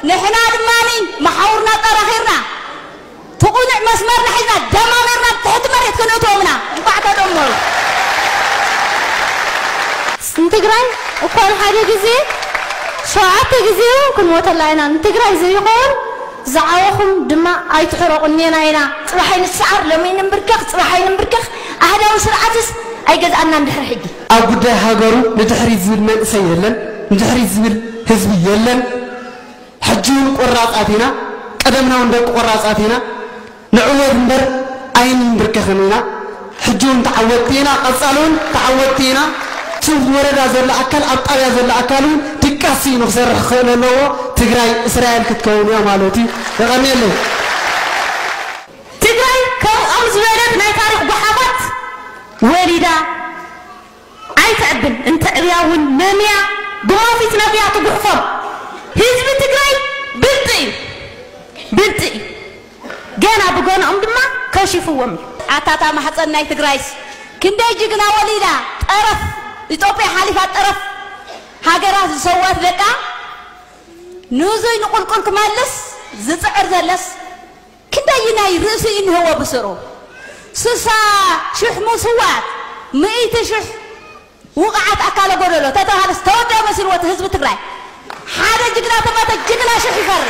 ንሕና ድማ መሓውርና ኣጠራኺርና ትቑኑዕ መስመርና ሒዝና ደማሚርና ትሕቲ መሬት ክንእትዎም ኢና። እንኳዕ ተደመሩ። ንትግራይ እኳ ንሓደ ግዜ ሸውዓተ ግዜ እውን ክንሞተላ ኢና። ንትግራይ ዘይኸውን ዝዓበኹም ድማ ኣይትሕረቑ እኔና ኢና። ጽባሕ ኣይንስዓር፣ ሎሚ ኣይንንብርከኽ፣ ጽባሕ ኣይንንብርከኽ። ኣህዳዊ ስርዓትስ ኣይገዝኣናን ድሕሪ ሕጂ። ኣብ ጉዳይ ሃገሩ ንድሕሪት ዝብል መንእሰይ የለን፣ ንድሕሪት ዝብል ህዝቢ የለን። ሕጂ እውን ቆራጻት ኢና፣ ቀደምና እውን ደቂ ቆራጻት ኢና። ንዕወት እምበር ኣይንንብርከኽን ኢና። ሕጂ እውን ተዓወትቲ ኢና፣ ቀጻሊ እውን ተዓወትቲ ኢና። እቲ ወረዳ ዘሎ ኣካል፣ ኣብ ጣብያ ዘሎ ኣካል እውን ድቃስ ስኢኑ ክሰርሕ ክኽእል ኣለዎ። ትግራይ እስራኤል ክትከውን እያ ማለት እዩ። የቐንየለይ። ትግራይ ከምኦም ዝበለት ናይ ታሪኽ ጓሓፋት ወሊዳ ኣይተዕብን። እንተዕብያ እውን መምያ ብመውፊት ነብያ ትጉሕፎም። ህዝቢ ትግራይ ብልጥ እዩ፣ ብልጥ እዩ። ገና ብገንኦም ድማ ከሽፍዎም እዩ። ኣታታ ማሕፀን ናይ ትግራይስ ክንደይ ጅግና ወሊዳ፣ ጠረፍ ኢትዮጵያ ሓሊፋ ጠረፍ ሃገራት ዝሰዋት ደቃ ንዙይ ንቁልቁል ክመልስ ዝፅዕር ዘለስ ክንደይ ናይ ርእሱ ይንህዎ ብስሩ። ስሳ ሽሕ ምስዋት፣ ምእቲ ሽሕ ውቕዓት ኣካለ ጎደሎ ተተባሃለስ ተወደበ መሲልዎ እቲ ህዝቢ ትግራይ። ሓደ ጅግና ተመተ ጅግና ሽሕ ይፈሪ።